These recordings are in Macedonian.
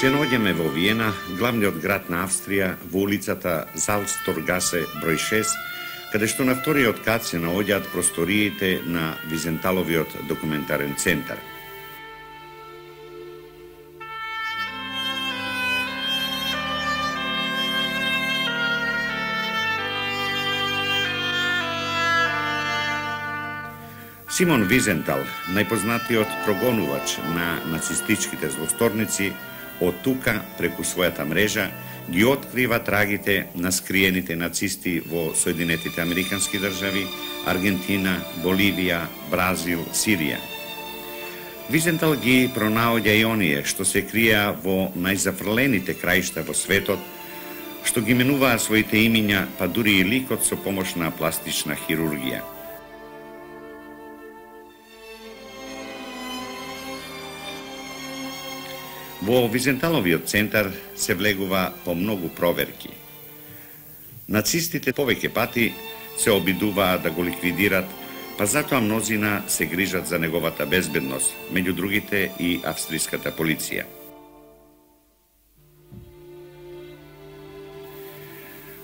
Се наоѓаме во Виена, главниот град на Австрија, во улицата Залцторгасе број 6, каде што на вториот кат се наоѓаат просториите на Визенталовиот документарен центар. Симон Визентал, најпознатиот прогонувач на нацистичките злосторници, од тука, преку својата мрежа, ги открива трагите на скриените нацисти во Соединетите Американски држави, Аргентина, Боливија, Бразил, Сирија. Визентал ги пронаоѓа и оние што се криеа во најзафрлените краишта во светот, што ги менуваа своите имиња, па дури и ликот со помош на пластична хирургија. Во Визенталовиот центар се влегува по многу проверки. Нацистите повеќе пати се обидуваа да го ликвидират, па затоа мнозина се грижат за неговата безбедност, меѓу другите и австриската полиција.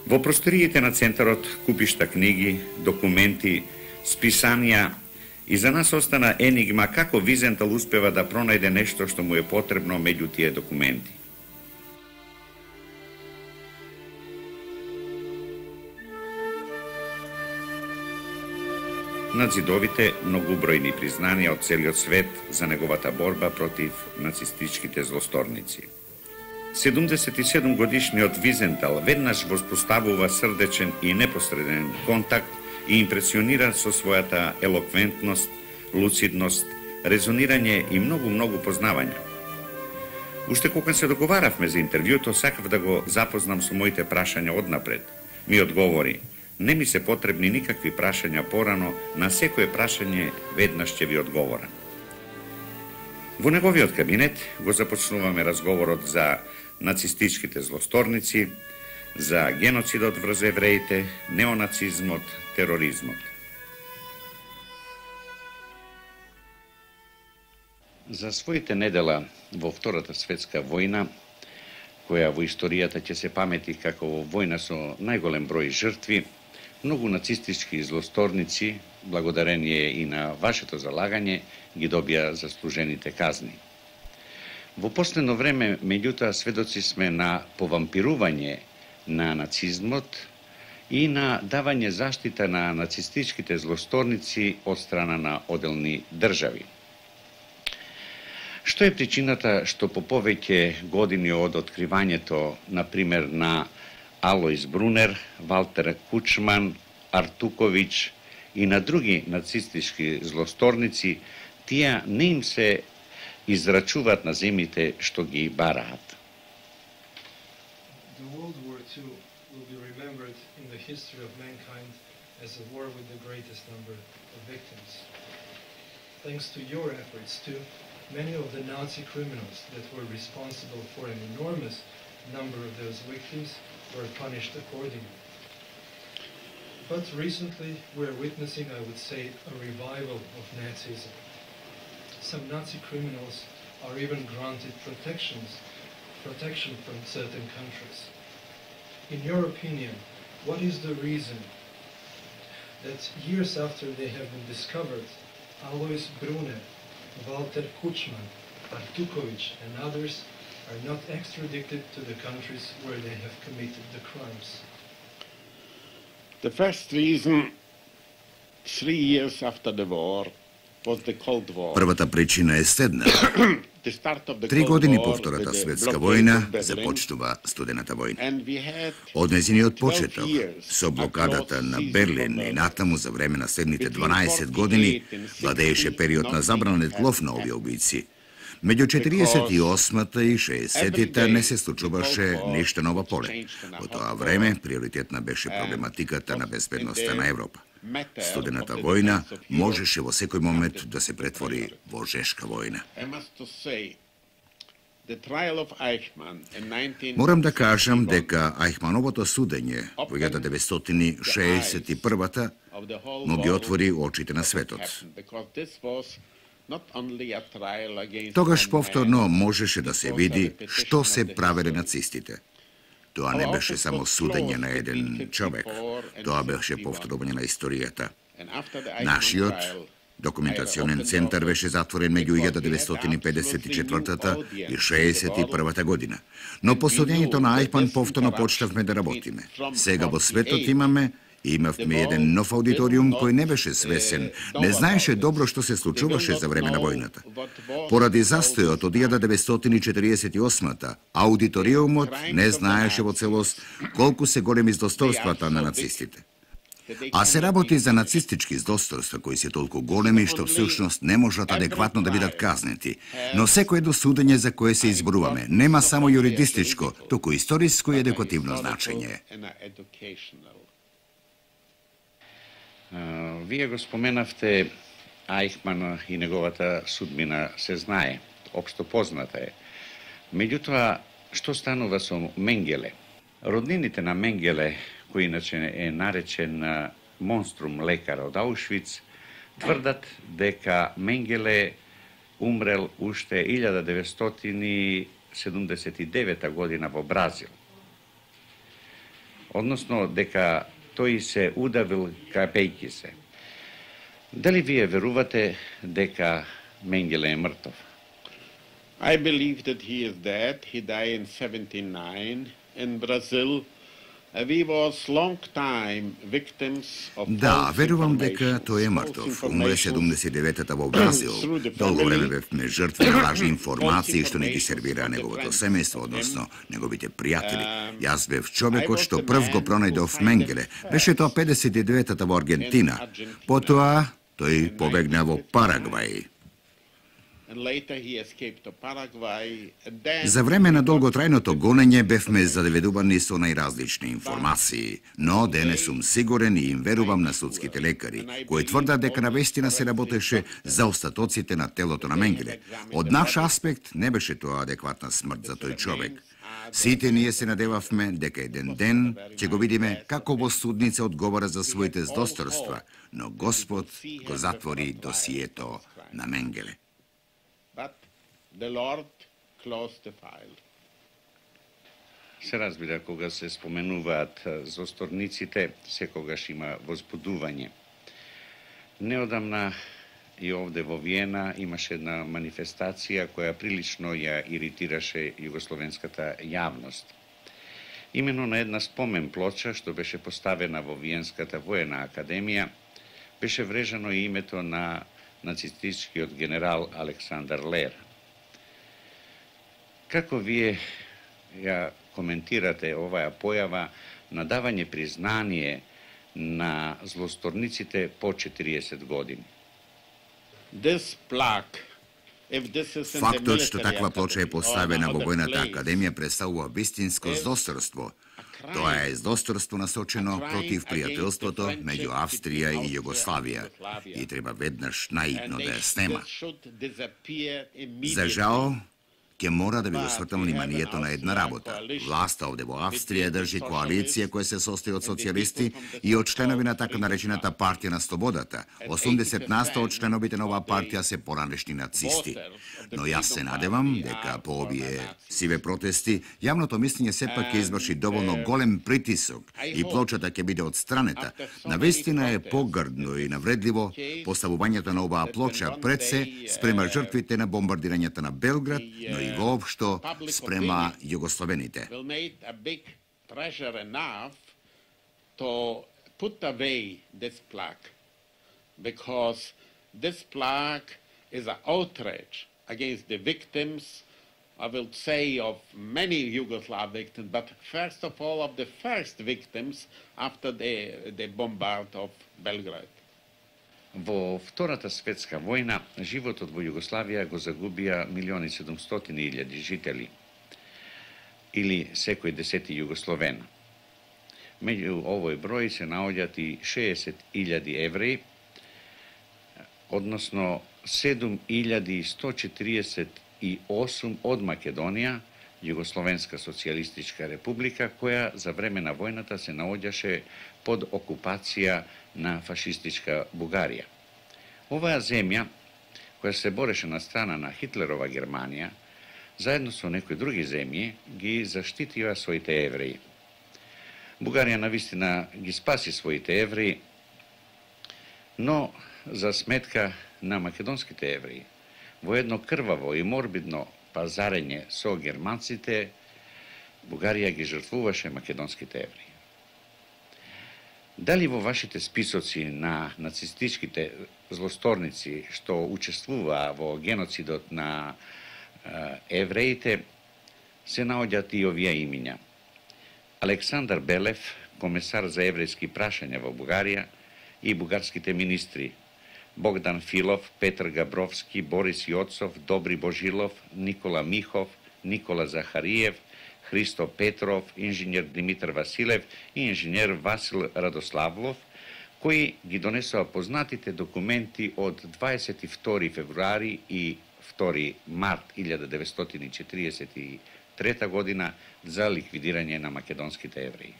Во просториите на центарот купишта книги, документи, списанија, и за нас остана енигма како Визентал успева да пронајде нешто што му е потребно меѓу тие документи. Над зидовите многубројни признанија од целиот свет за неговата борба против нацистичките злосторници. 77 годишниот Визентал веднаш воспоставува срдечен и непосреден контакт и импресионира со својата елоквентност, луцидност, резонирање и многу познавања. Уште кога се договаравме за интервјуто, сакав да го запознам со моите прашања однапред. Ми одговори: не ми се потребни никакви прашања порано, на секое прашање веднаш ќе ви одговорам. Во неговиот кабинет го започнуваме разговорот за нацистичките злосторници, за геноцидот врз евреите, неонацизмот, тероризмот. За своите недела во Втората светска војна, која во историјата ќе се памети како војна со најголем број жртви, многу нацистички злосторници, благодарение и на вашето залагање, ги добија заслужените казни. Во последно време, меѓутоа, сведоци сме на повампирување на нацизмот и на давање заштита на нацистичките злосторници од страна на оделни држави. Што е причината што по повеќе години од откривањето, например, на Алоис Брунер, Валтер Кучман, Артуковиќ и на други нацистички злосторници, тие не им се израчуваат на земите што ги бараат? World War II will be remembered in the history of mankind as a war with the greatest number of victims. Thanks to your efforts too, many of the Nazi criminals that were responsible for an enormous number of those victims were punished accordingly. But recently we are witnessing, I would say, a revival of Nazism. Some Nazi criminals are even granted protection from certain countries. In your opinion, what is the reason that years after they have been discovered, Alois Brunner, Walter Kutschmann, Artuković and others are not extradited to the countries where they have committed the crimes? The first reason, 3 years after the war, was the Cold War. Првата причина е следната. 3 години по Втората светска војна започнува Студената војна. Од нејзиниот почеток, со блокадата на Берлин и натаму за време на следните 12 години, владееше период на забранет лов на овие убици. Меѓу 48-та и 60-та не се случуваше ништо на ова поле. Во тоа време приоритетна беше проблематиката на безбедноста на Европа. Студената војна можеше во секој момент да се претвори во жешка војна. Морам да кажам дека Ајхмановото судење во 1961-та му ги отвори очите на светот. Тогаш повторно можеше да се види што се правеле нацистите. Тоа не беше само судење на еден човек, тоа беше повторување на историјата. Нашиот документационен центар беше затворен меѓу 1954 и 61 година. Но по судењето на Ајхман повторно почнавме да работиме. Сега во светот имавме еден нов аудиториум кој не беше свесен, не знаеше добро што се случуваше за време на војната. Поради застојот од 1948-та, аудиториумот не знаеше во целост колку се големи здосторствата на нацистите. А се работи за нацистички здосторства кои се толку големи што всушност не можат адекватно да бидат казнети. Но секој едно судење за кое се изборуваме нема само юридистичко, туку историско и едукативно значење. Вие го споменавте Ајхман и неговата судбина се знае, општо позната е. Меѓутоа, што станува со Менгеле? Роднините на Менгеле, кој иначе е наречен монструм лекар од Аушвиц, тврдат дека Менгеле умрел уште 1979 година во Бразил. Односно, дека тој се удавил капејки се. Дали вие верувате дека Менгеле е мртов? I believe that he is dead. He died in 79 in Brazil. We was long time victims of Да, верувам дека тој е мртов. Умре 79-та во Бразил. Долго време бевме жртви на лажни информации што не ги сервира неговото семејство, односно неговите пријатели. Јас бев човекот што прв го пронајдов Менгеле. Беше тоа 59-та во Аргентина. Потоа тој побегна во Парагвај. За време на долготрајното гонење бевме задеведувани со најразлични информации, но денес сум сигурен и им верувам на судските лекари, кои тврдат дека навистина се работеше за остатоците на телото на Менгеле. Од наш аспект не беше тоа адекватна смрт за тој човек. Сите ние се надевавме дека еден ден ќе го видиме како во судница одговара за своите здосторства, но Господ го затвори досието на Менгеле. But the Lord closed the file. Се разбира, кога се споменуваат зосторниците, секогаш има возбудување. Неодамна и овде во Виена имаше една манифестација која прилично ја иритираше југословенската јавност. Имено на една спомен плоча што беше поставена во Виенската воена академија, беше врежано и името на нацистичкиот генерал Александар Лер. Како вие ја коментирате оваа појава на давање признание на злосторниците по 40 години? Фактот што таква плоча е поставена во војната академија представува вистинско здосторство. Тоа е здосторство насочено против пријателството меѓу Австрија и Југославија и треба веднаш наидно да ја снема. За жал, ќе мора да ви го свртам вниманието на една работа. Власта овде во Австрија држи коалиција која се состои од социјалисти и од членови на така наречената партија на слободата. 80% од членовите на оваа партија се поранешни нацисти. Но јас се надевам дека по овие сиве протести јавното мислење сепак ќе изврши доволно голем притисок и плочата ќе биде отстранета. Навистина е погрдно и навредливо поставувањето на оваа плоча пред се спрема жртвите на бомбардирањата на Белград, но и воопшто спрема југословените. Against the victims, I will say of many Yugoslav victims, but first of all of the first victims after the bombard of Belgrade. Во Втората светска војна, животот во Југославија го загубија 1.700.000 жители, или секој 10 југословен. Меѓу овој број се наоѓаат и 60.000 евреи, односно 7.148 од Македонија, Југословенска социјалистичка република, која за време на војната се наоѓаше под окупација на фашистичка Бугарија. Оваа земја, која се бореше на страна на Хитлерова Германија, заедно со некои други земји, ги заштитија своите евреи. Бугарија навистина ги спаси своите евреи, но за сметка на македонските евреи, во едно крваво и морбидно пазарење со германците, Бугарија ги жртвуваше македонските евреи. Дали во вашите списоци на нацистичките злосторници што учествуваа во геноцидот на евреите се наоѓаат и овие имиња? Александар Белев, комесар за еврејски прашања во Бугарија, и бугарските министри Богдан Филов, Петр Габровски, Борис Јоцов, Добри Божилов, Никола Михов, Никола Захариев, Христо Петров, инженер Димитар Василев и инженер Васил Радославлов, кои ги донесоа познатите документи од 22 февруари и 2 март 1943 година за ликвидирање на македонските евреи.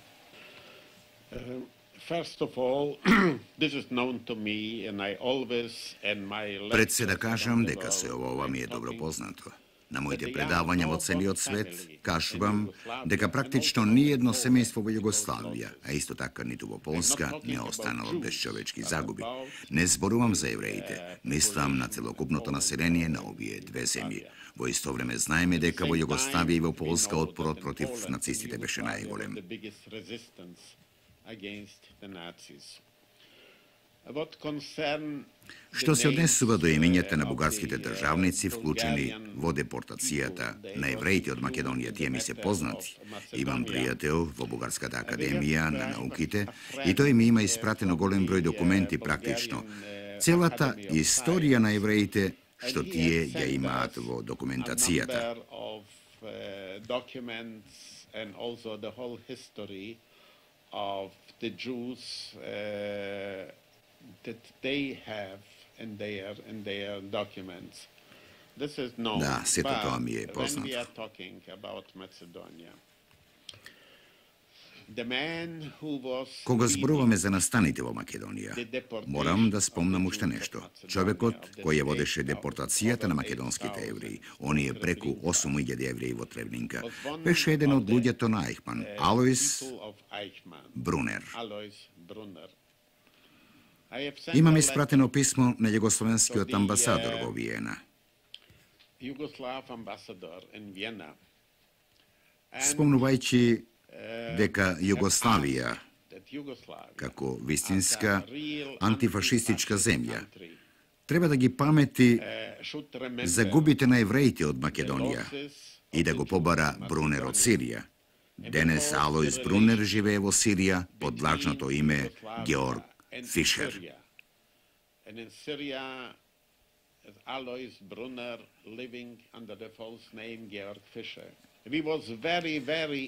Пред се да кажам дека се ова ми е добро познато. На моите предавања во целиот свет кажувам дека практично ниедно семејство во Југославија, а исто така ниту во Полска, не останало без човечки загуби. Не зборувам за евреите, мислам на целокупното население на овие две земји. Во исто време знаеме дека во Југославија и во Полска отпорот против нацистите беше најголем. Што се однесува до имињата на бугарските државници вклучени во депортацијата на евреите од Македонија, тие ми се познати. Имам пријател во Бугарската академија на науките и тој ми има испратено голем број документи практично. Целата историја на евреите што тие ја имаат во документацијата. Да, сето тоа ми е познато. Кога зборуваме за настаните во Македонија, морам да спомнам уште нешто. Човекот кој ја водеше депортацијата на македонските евреи, оние преку 8.000 евреи во Тревнинка, беше еден од луѓето на Ајхман, Алојс Брунер. Имам испратено писмо на југословенскиот амбасадор во Виена. Спомнувајќи дека Југославија, како вистинска антифашистичка земја, треба да ги памети загубите на евреите од Македонија и да го побара Брунер од Сирија. Денес Алојс Брунер живее во Сирија под лажното име Георг Фишер.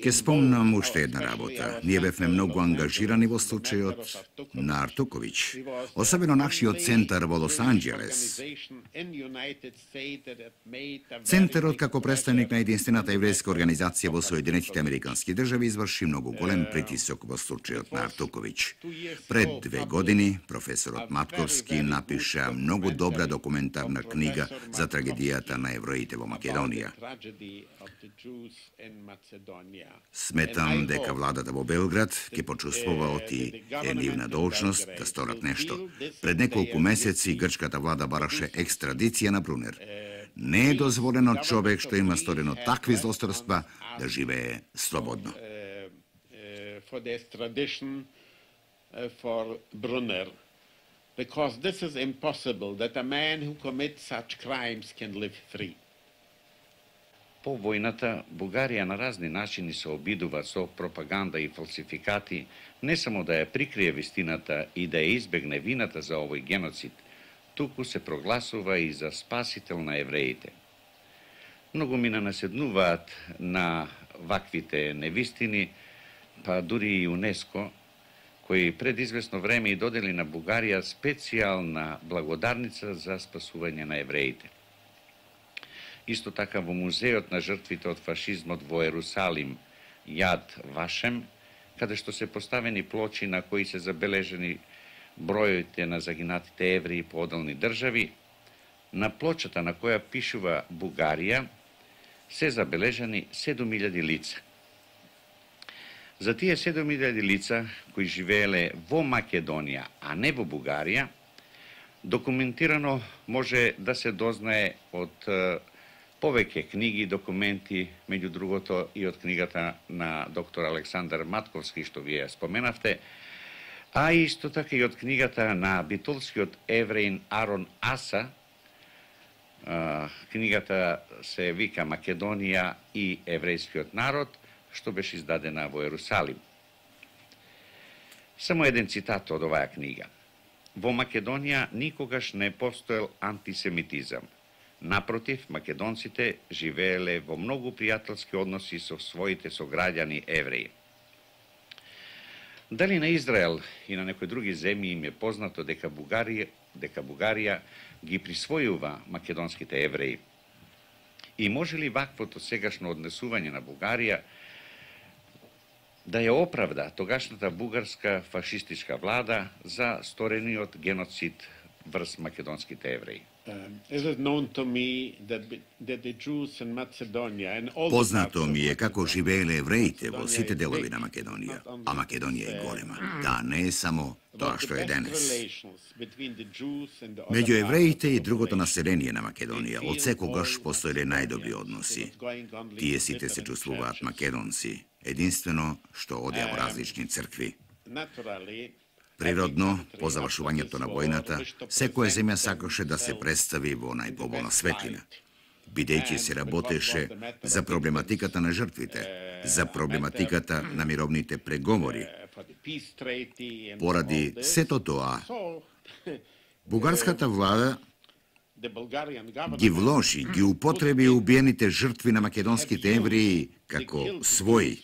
Ке спомнам уште една работа. Ние бевме многу ангажирани во случајот на Артуковиќ, особено нашиот центар во Лос Анџелес. Центарот како представник на единствената еврејска организација во Соединетите Американски држави изврши многу голем притисок во случајот на Артуковиќ. Пред 2 години професорот Матковски напиша многу добра документарна книга за трагедијата на евреите во Македонија. Сметам дека владата во Белград ќе почувствуваат и е нивна должност да сторат нешто. Пред неколку месеци грчката влада бараше екстрадиција на Брунер. Не е дозволено човек што има сторено такви злосторства да живее слободно. Because this is impossible that a man who commits such crimes can live free. По војната, Бугарија на разни начини се обидува со пропаганда и фалсификати не само да ја прикрие вистината и да ја избегне вината за овој геноцид, туку се прогласува и за спасител на евреите. Многу ми наседнуваат на ваквите невистини, па дури и ЮНЕСКО, кои пред известно време и додели на Бугарија специјална благодарница за спасување на евреите. Исто така во музеот на жртвите од фашизмот во Ерусалим, Јад Вашем, каде што се поставени плочи на кои се забележени бројите на загинатите евреи по одделни држави, На плочата на која пишува Бугарија се забележани 7000 лица. За тие 7000 лица кои живееле во Македонија, а не во Бугарија, документирано може да се дознае од повеќе книги и документи, меѓу другото и од книгата на доктор Александар Матковски, што вие споменавте, а исто така и од книгата на битолскиот евреин Арон Аса. Книгата се вика Македонија и еврејскиот народ, што беше издадена во Ерусалим. Само еден цитат од оваа книга. Во Македонија никогаш не постоел антисемитизам. Напротив, македонците живееле во многу пријателски односи со своите сограѓани евреи. Дали на Израел и на некои други земји им е познато дека Бугарија ги присвојува македонските евреи? И може ли ваквото сегашно однесување на Бугарија да ја оправда тогашната бугарска фашистичка влада за сторениот геноцид врз македонските евреи? Познато ми е како живееле евреите во сите делови на Македонија, а Македонија е голема. Да, не е само тоа што е денес. Меѓу евреите и другото население на Македонија од секогаш постоеле најдобри односи. Тие сите се чувствуваат македонци, единствено што одеа во различни цркви. Природно, по завршувањето на војната, секоја земја сакаше да се представи во најпоболна светлина, бидејќи се работеше за проблематиката на жртвите, за проблематиката на мировните преговори. Поради сето тоа, бугарската влада ги вложи, ги употреби убиените жртви на македонските евреи како своји.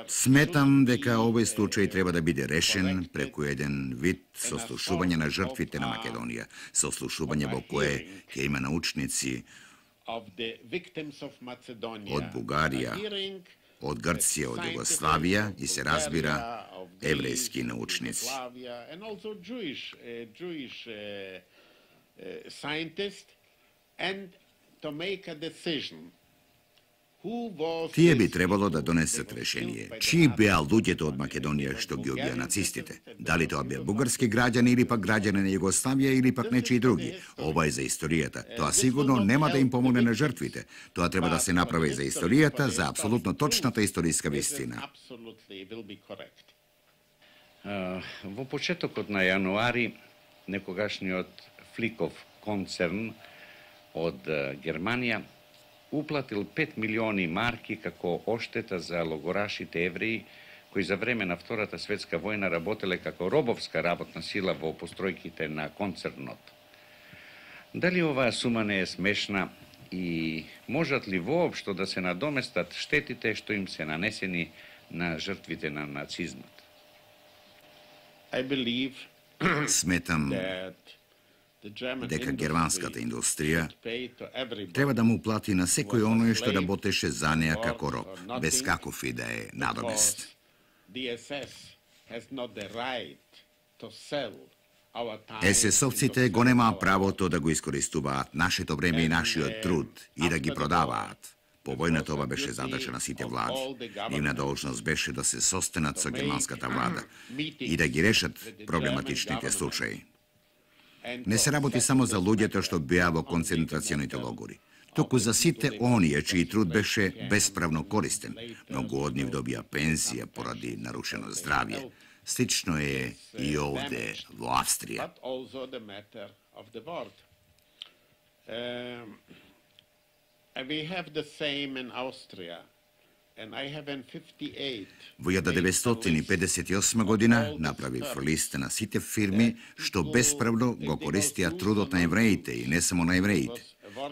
Сметам дека овој случај треба да биде решен преку еден вид сослушување на жртвите на Македонија, сослушување во кое ќе има научници од Бугарија, од Грција, од Југославија и се разбира еврејски научници. Тие би требало да донесат решение. Чии беа луѓето од Македонија што ги убија нацистите? Дали тоа беа бугарски граѓани или пак граѓани на Југославија или пак нечии други? Ова е за историјата. Тоа сигурно нема да им помогне на жртвите. Тоа треба да се направи за историјата, за апсолутно точната историска вистина. Во почетокот на јануари, некогашниот Фликов концерн од Германија уплатил 5 милиони марки како оштета за логорашите евреи кои за време на Втората светска војна работеле како робовска работна сила во постројките на концернот. Дали оваа сума не е смешна и можат ли воопшто да се надоместат штетите што им се нанесени на жртвите на нацизмот? Сметам дека германската индустрија треба да му плати на секој оној што работеше за неа како роб, без каков и да е надомест. СС-овците го немаа правото да го искористуваат нашето време и нашиот труд и да ги продаваат. По војната ова беше задача на сите влади. Нивна должност беше да се состенат со германската влада и да ги решат проблематичните случаи. Не се работи само за луѓето што беа во концентрационите логори, туку за сите оние чиј труд беше бесправно користен. Многу од нив добија пенсија поради нарушено здравје. Слично е и овде во Австрија. Во 1958 година направив листа на сите фирми што бесправно го користија трудот на евреите и не само на евреите.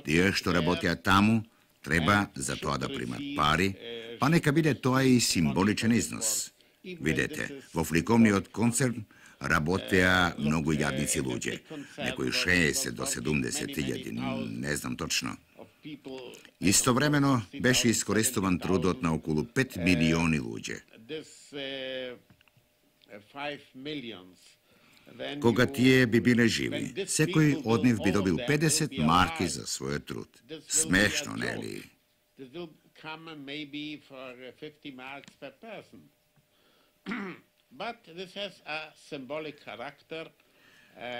Тие што работеа таму треба за тоа да примат пари, па нека биде тоа и символичен износ. Видете, во фликовниот концерн работеа многу јадници луѓе, некои 60 до 70 000, не знам точно. Истовремено беше искористуван трудот на околу 5 милиони луѓе. Кога тие би биле живи, секој од нив би добил 50 марки за својот труд. Смешно, нели?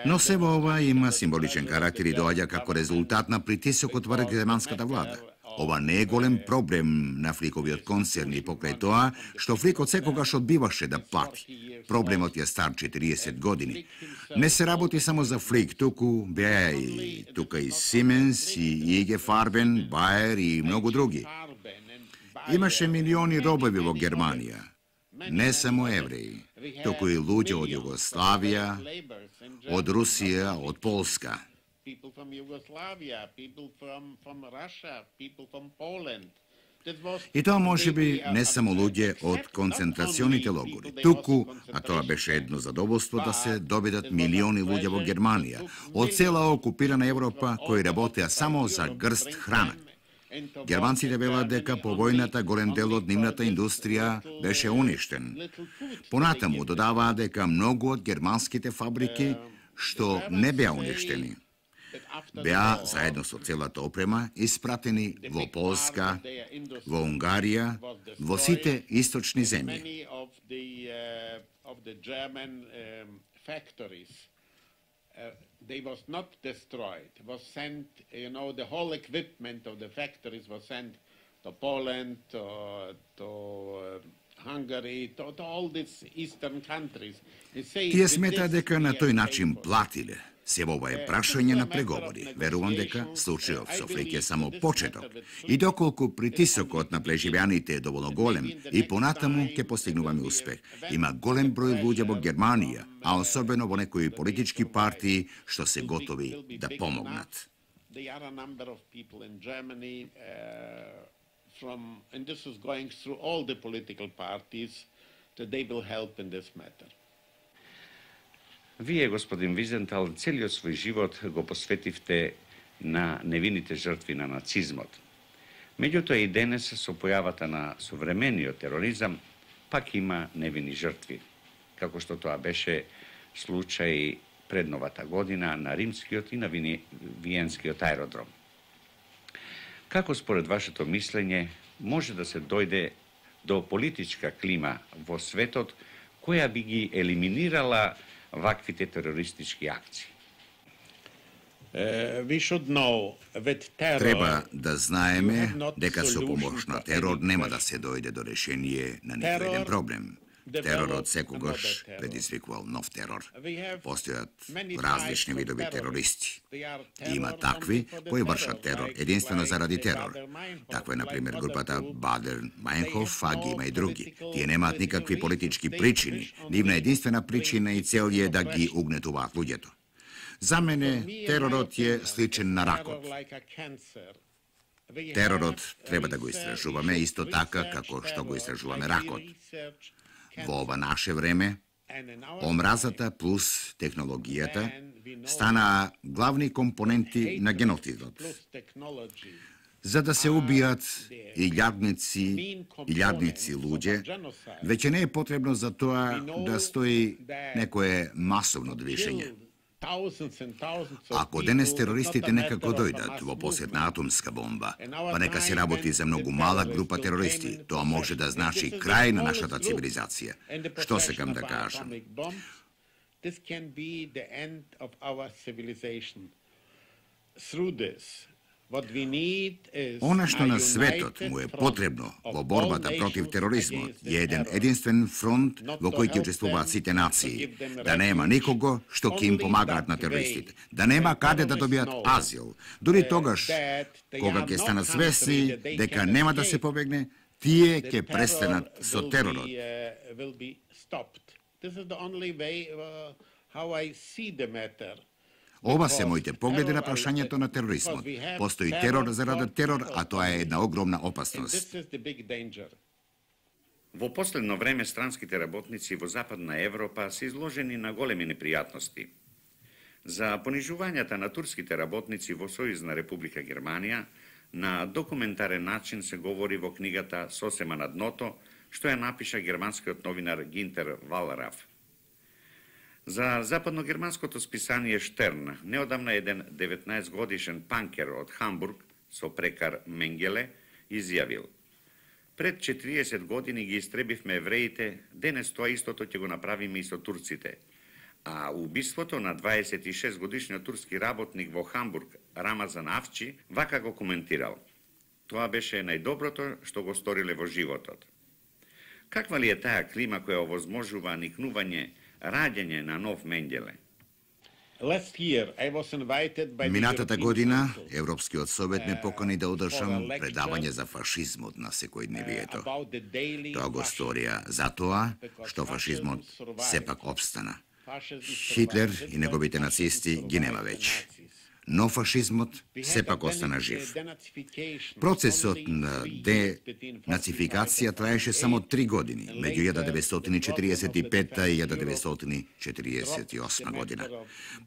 Но се во ова има символичен карактер и доаѓа како резултат на притисокот врз германската влада. Ова не е голем проблем на Фликовиот концерн и покрај тоа што Фликот секогаш одбиваше да плати. Проблемот е стар 40 години. Не се работи само за Флик, туку беа и тука и Сименс, и IG Farben, Bayer и многу други. Имаше милиони робови во Германија. Не само евреи, туку и луѓе од Југославија, од Русија, од Полска. И тоа може би не само луѓе од концентрационите логори, туку, а тоа беше едно задоволство да се добидат милиони луѓе во Германија, од цела окупирана Европа кои работеа само за грст храна. Германците велат дека по војната голем дел од нивната индустрија беше уништен. Понатаму додаваа дека многу од германските фабрики што не беа уништени, беа заедно со целата опрема испратени во Полска, во Унгарија, во сите источни земји. They was not destroyed. It was sent, the whole equipment of the factories was sent to Poland, to Hungary, to all these eastern countries. Тие смета дека на тој начин платиле. Се ова е прашање на преговори. Верувам дека случајот со Флик е само почеток. И доколку притисокот на преживеаните е доволно голем, и понатаму ќе постигнуваме успех. Има голем број луѓе во Германија, а особено во некои политички партии што се готови да помогнат. And this is going through all the political parties that they will help in this matter. Вие, господин Визентал, целиот свој живот го посветивте на невините жртви на нацизмот. Меѓутоа и денес со појавата на современиот тероризам пак има невини жртви, како што тоа беше случај пред новата година на римскиот и на виенскиот аеродром. Како според вашето мислење може да се дојде до политичка клима во светот која би ги елиминирала ваквите терористички акции? Треба да знаеме дека со помош на терор нема да се дојде до решение на никој еден проблем. Теророт секогаш предизвикувал нов терор. Постојат различни видови терористи. Има такви кои вршат терор единствено заради терор. Таква е, например, групата Бадер-Мајнхоф, а ги има и други. Тие немаат никакви политички причини. Нивна единствена причина и цел е да ги угнетуваат луѓето. За мене теророт е сличен на ракот. Теророт треба да го истражуваме исто така како што го истражуваме ракот. Во ова наше време, омразата плюс технологијата стана главни компоненти на геноцидот. За да се убијат илјадници луѓе, веќе не е потребно за тоа да стои некое масовно движење. Ако денес терористите некако дојдат во посет на атомска бомба, па нека се работи за многу мала група терористи, тоа може да значи крај на нашата цивилизација. Што секам да кажам? Она што на светот му е потребно во борбата против тероризмот е еден единствен фронт во кој ќе учествуваат сите нации. Да нема никого што ќе им помагаат на терористите. Да нема каде да добијат азил. Дури тогаш, кога ќе станат свесни дека нема да се побегне, тие ќе престанат со теророт. Ова се моите погледи на прашањето на тероризмот. Постои терор заради терор, а тоа е една огромна опасност. Во последно време странските работници во Западна Европа се изложени на големи непријатности. За понижувањата на турските работници во Сојузна Република Германија на документарен начин се говори во книгата Сосема на дното, што ја напиша германскиот новинар Гинтер Валраф. За западногерманското списание Штерн, неодамна еден 19-годишен панкер од Хамбург со прекар Менгеле изјавил: "Пред 40 години ги истребивме евреите, денес тоа истото ќе го направиме и со турците." А убиството на 26 годишниот турски работник во Хамбург, Рамазан Авчи, вака го коментирал: "Тоа беше најдоброто што го сториле во животот." Каква ли е таа клима која овозможува никнување, раѓање на нов Менгеле? Минатата година Европскиот совет ме покани да одржам предавање за фашизмот на секојдневието. Тоа го сторија затоа што фашизмот сепак опстана. Хитлер и неговите нацисти ги нема веќе. Но фашизмот сепак остана жив. Процесот на денацификација траеше само 3 години, меѓу 1945 и 1948 година.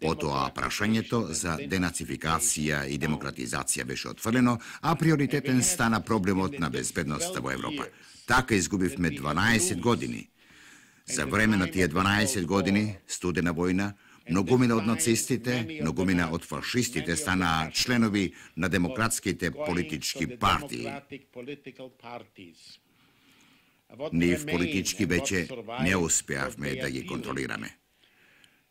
Потоа прашањето за денацификација и демократизација беше отфрлено, а приоритетен стана проблемот на безбедноста во Европа. Така изгубивме 12 години. За време на тие 12 години, студена војна, многумина од нацистите, многумина од фашистите станаа членови на демократските политички партии. Нив политички веќе не успеавме да ги контролираме.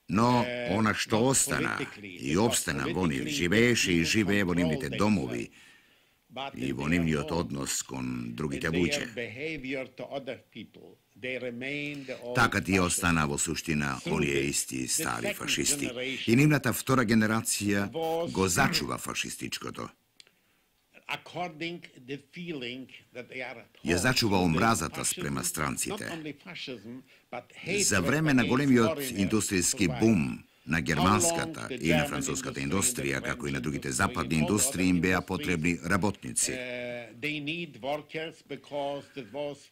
Но она што остана и обстана во нив, живееше и живее во нивните домови и во нивниот однос кон другите луѓе. Така тие остана во суштина оние исти стари фашисти. И нивната втора генерација го зачува фашистичкото. Ја зачува омразата спрема странците. За време на големиот индустријски бум на германската и на француската индустрија, како и на другите западни индустрии, им беа потребни работници.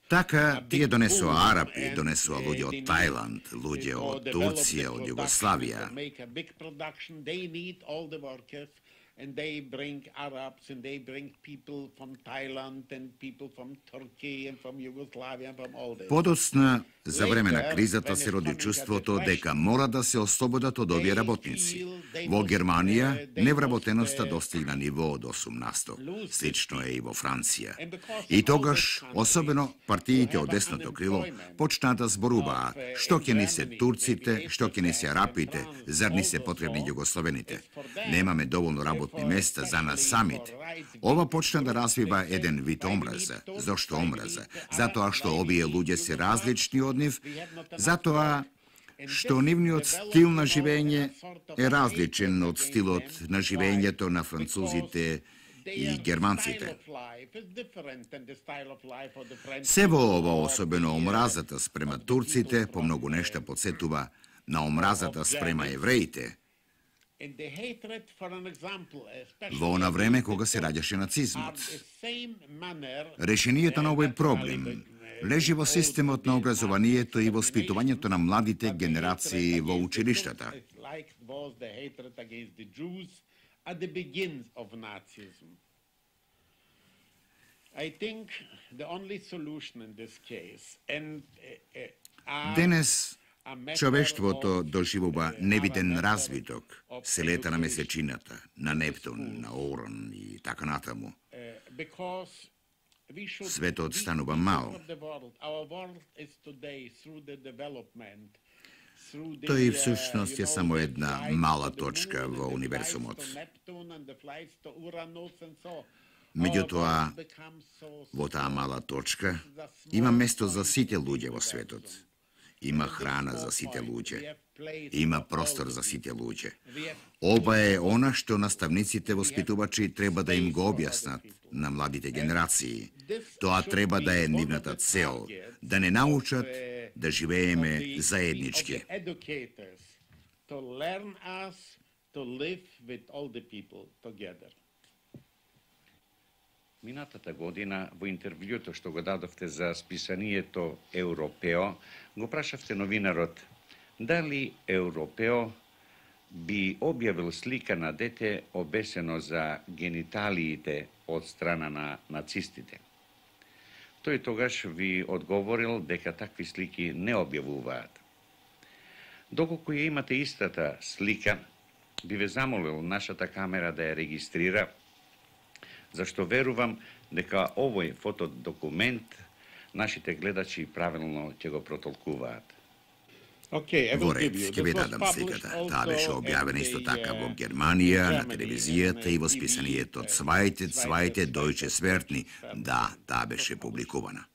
Така, тие донесоа арапи, донесоа луѓе од Тајланд, луѓе од Турција, од Југославија. And they bring Arabs, and they bring people from Thailand, and people from Turkey, and from Yugoslavia, and from all this. Подоцна, за време на кризата се роди чувството дека мора да се ослободат од овие работници. Во Германија невработеноста достигна ниво од 18%. Слично е и во Франција. И тогаш, особено партиите од десното крило, почнаа да зборуваат што ќе ни се турците, што ќе ни се арапите, зар ни се потребни југословените. Немаме доволно работни места за нас самите. Ова почна да развива еден вид омраза. Зошто омраза? Затоа што овие луѓе се различни од нив, затоа што нивниот стил на живење е различен од стилот на живењето на французите и германците. Се во ова, особено омразата спрема турците, по многу нешта подсетува на омразата спрема евреите, во она време кога се раѓаше нацизмот. Решението на овој проблем лежи во системот на образованието и воспитувањето на младите генерации во училиштата. Денес човештвото доживува невиден развиток, се лета на месечината, на Нептун, на Оран и така натаму. Светот станува мал. Тој всушност е само една мала точка во универзумот. Меѓутоа, во таа мала точка има место за сите луѓе во светот. Има храна за сите луѓе. Има простор за сите луѓе. Ова е она што наставниците воспитувачи треба да им го објаснат на младите генерации. Тоа треба да е нивната цел, да не научат да живееме заеднички. Минатата година, во интервјуто што го дадовте за списанието Европео, го прашавте новинарот дали Европео би објавил слика на дете обесено за гениталиите од страна на нацистите. Тој тогаш ви одговорил дека такви слики не објавуваат. Доколку ја имате истата слика, би ве замолил нашата камера да ја регистрира, зашто верувам дека овој фотодокумент нашите гледачи правилно ќе го протолкуваат. Во ред, ќе ви дадам сликата. Таа беше објавена исто така во Германија, на телевизијата и во списанието Цвајте Дојче Свертни. Да, таа беше публикувана.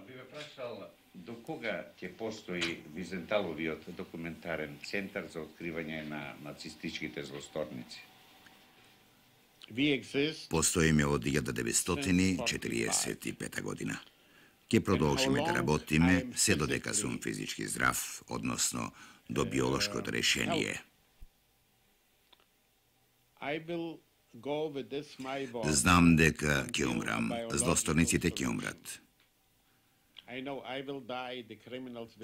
Би ве прашал до кога ќе постои Визенталовиот документарен центар за откривање на нацистичките злосторници? Постоиме од 1945 година. Ќе продолжиме да работиме се додека сум физички здрав, односно до биолошкото решение. Знам дека ќе умрам, злосторниците ќе умрат.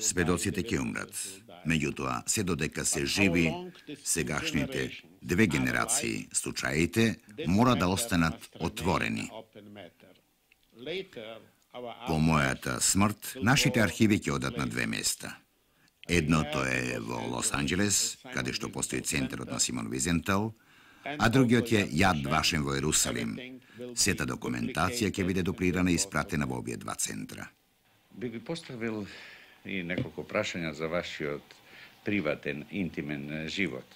Сведоците ќе умрат. Меѓутоа, се додека се живи, сегашните две генерации случаите мора да останат отворени. По мојата смрт, нашите архиви ќе одат на две места. Едното е во Лос Анџелес, каде што постои центарот на Симон Визентал, а другиот е Јад Вашем во Ерусалим. Сета документација ќе биде дуплирана и испратена во овие два центра. Би ви поставил и неколку прашања за вашиот приватен, интимен живот.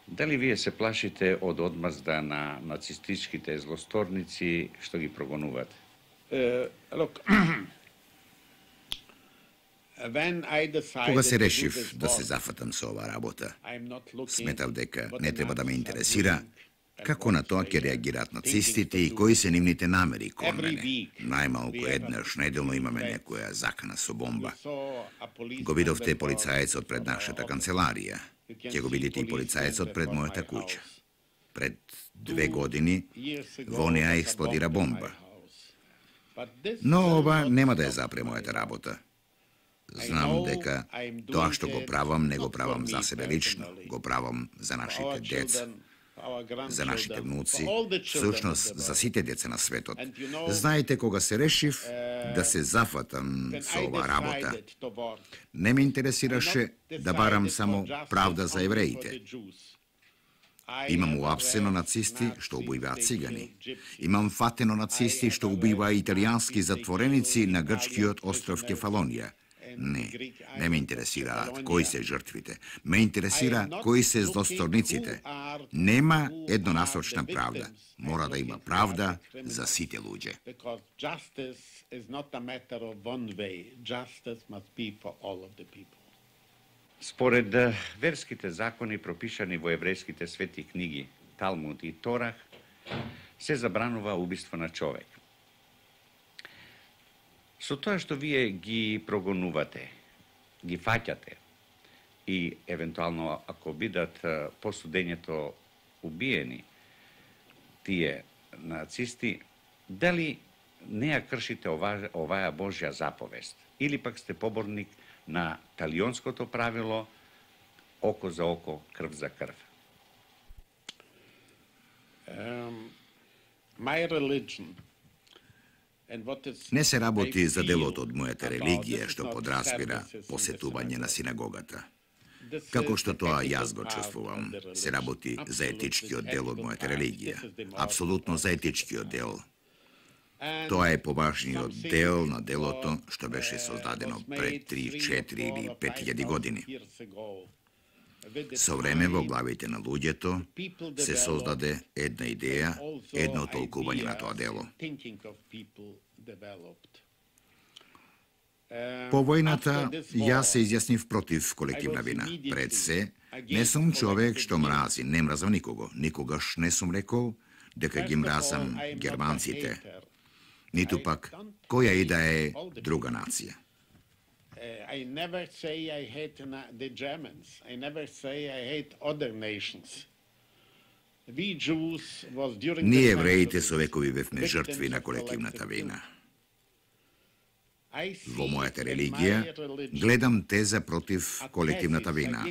Дали вие се плашите од одмазда на нацистичките злосторници што ги прогонуваат? Кога се решив да се зафатам со оваа работа, сметав дека не треба да ме интересира како на тоа ќе реагираат нацистите и кои се нивните намери кон мене. Најмалку еднаш неделно имаме некоја закана со бомба. Го видовте полицаецот пред нашата канцеларија. Ќе го видите и полицаецот пред мојата куќа. Пред 2 години во неа експлодира бомба. Но ова нема да ја запре мојата работа. Знам дека тоа што го правам, не го правам за себе лично, го правам за нашите деца, за нашите внуци, всушност за сите деца на светот. Знаете, кога се решив да се зафатам со оваа работа, не ме интересираше да барам само правда за евреите. Имам уапсено нацисти што убиваат цигани. Имам фатено нацисти што убиваат италијански затвореници на грчкиот остров Кефалонија. Не ме интересираат кои се жртвите. Ме интересира кои се злосторниците. Нема еднонасочна правда. Мора да има правда за сите луѓе. Според верските закони пропишани во еврејските свети книги Талмуд и Торах, се забранува убиство на човек. Со тоа што вие ги прогонувате, ги фаќате и евентуално ако бидат по судењето убиени тие нацисти, дали не ја кршите оваа Божја заповест или пак сте поборник на талионското правило око за око, крв за крв? My religion Не се работи за делото од мојата религија што подразбира посетување на синагогата. Како што тоа јас го чувствувам, се работи за етичкиот дел од мојата религија. Апсолутно за етичкиот дел. Тоа е поважниот дел на делото што беше создадено пред 3, 4 или 5000 години. Со време во главите на луѓето се создаде една идеја, едно толкување на тоа дело. По војната, јас се изјаснив против колективна вина. Пред се, не сум човек што мрази, не мразам никого. Никогаш не сум рекол дека ги мразам германците, ниту пак која и да е друга нација. I never say I hate the Germans. I never say I hate other nations. We Jews was during Ние евреите со векови бевме жртви на колективната вина. Во мојата религија гледам теза против колективната вина.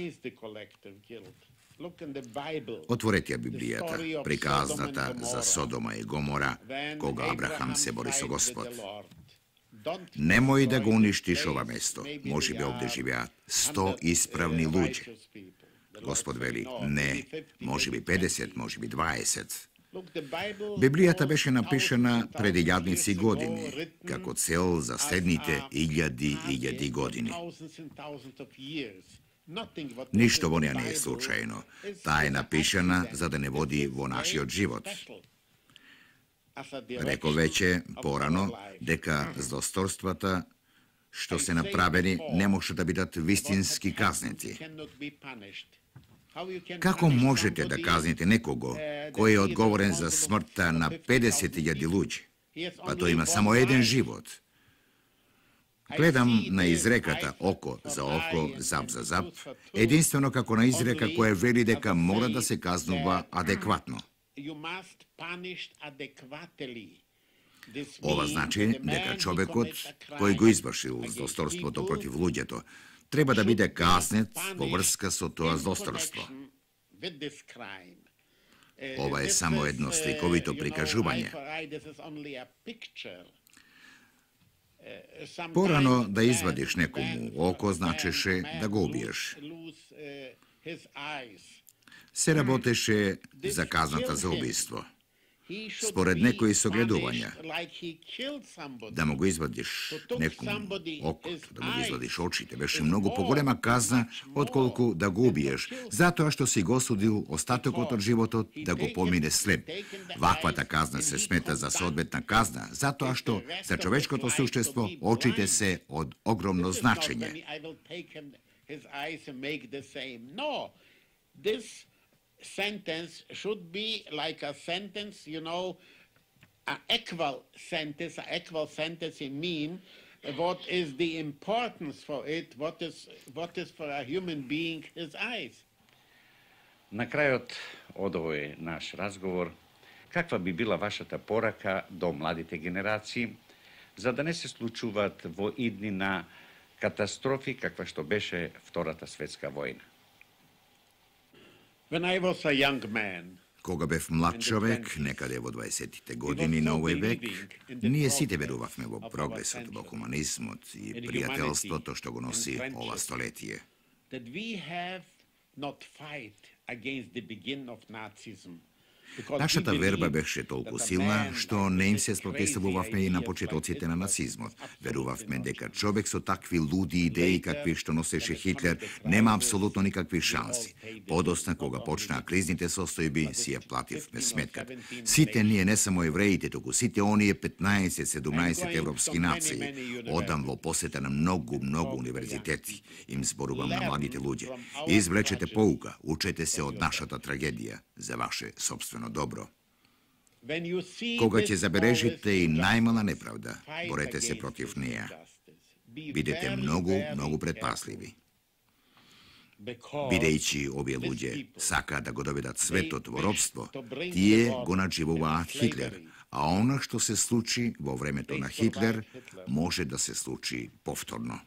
Отворете ја Библијата, приказната за Содома и Гомора, кога Абрахам се бори со Господ. Немој да го уништиш ова место, може би овде живеат 100 исправни луѓе. Господ вели, не, може би 50, може би 20. Библијата беше напишана пред илјадници години, како цел за следните илјади години. Ништо во неја не е случајно. Таа е напишана за да не води во нашиот живот. Рекол веќе порано дека злосторствата што се направени не може да бидат вистински казнети. Како можете да казните некого кој е одговорен за смртта на 50.000 луѓе? Па тој има само еден живот. Гледам на изреката око за око, зап за зап, единствено како на изрека која вели дека мора да се казнува адекватно. Ова значи дека човекот кој го извршил злосторството против луѓето треба да биде казнет во врска со тоа злосторство. Ова е само едно сликовито прикажување. Порано да извадиш некому око значеше да го убиеш. Се работеше за казната за убиство. Според некои согледувања, да му го извадиш некому окото, да му го извадиш очите, беше многу поголема казна отколку да го убиеш, затоа што си го осудил остатокот од животот да го помине слеп. Ваквата казна се смета за соодветна казна, затоа што за човечкото суштество очите се од огромно значење. Sentence should be like a sentence, an equal sentence. An equal sentence mean what is the importance for it, what is for a human being his eyes. На крајот од овој наш разговор, каква би била вашата порака до младите генерации, за да не се случуваат во иднина катастрофи каква што беше Втората светска војна? When I was a young man, кога бев млад човек, некаде во 20-тите години на овој век, ние сите верувавме во прогресот, во хуманизмот и пријателството што го носи ова столетие. That we have not fight against the begin of Nazism. Нашата верба беше толку силна, што не им се спротивувавме и на почетоците на нацизмот. Верувавме дека човек со такви луди идеи какви што носеше Хитлер нема апсолутно никакви шанси. Подосна, кога почнаа кризните состојби, си ја плативме сметката. Сите ние, не само евреите, туку сите оние 15-17 европски нации. Одам во посета на многу универзитети. Им зборувам на младите луѓе. Извлечете поука, учете се од нашата трагедија за ваше собствено добро. Кога ќе забележите и најмала неправда, борете се против неја. Бидете многу предпасливи. Бидејќи овие луѓе сакаат да го доведат светот во робство, тие го надживуваат Хитлер, а она што се случи во времето на Хитлер може да се случи повторно.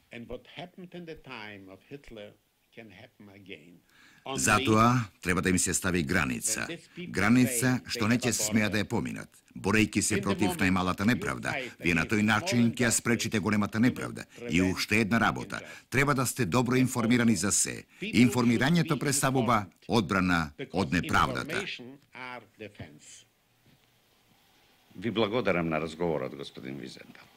Затоа треба да им се стави граница. Граница што не ќе смеа да ја поминат. Борејќи се против најмалата неправда, вие на тој начин ќе ја спречите големата неправда. И уште една работа. Треба да сте добро информирани за се. Информирањето представува одбрана од неправдата. Ви благодарам на разговорот, господин Визентал.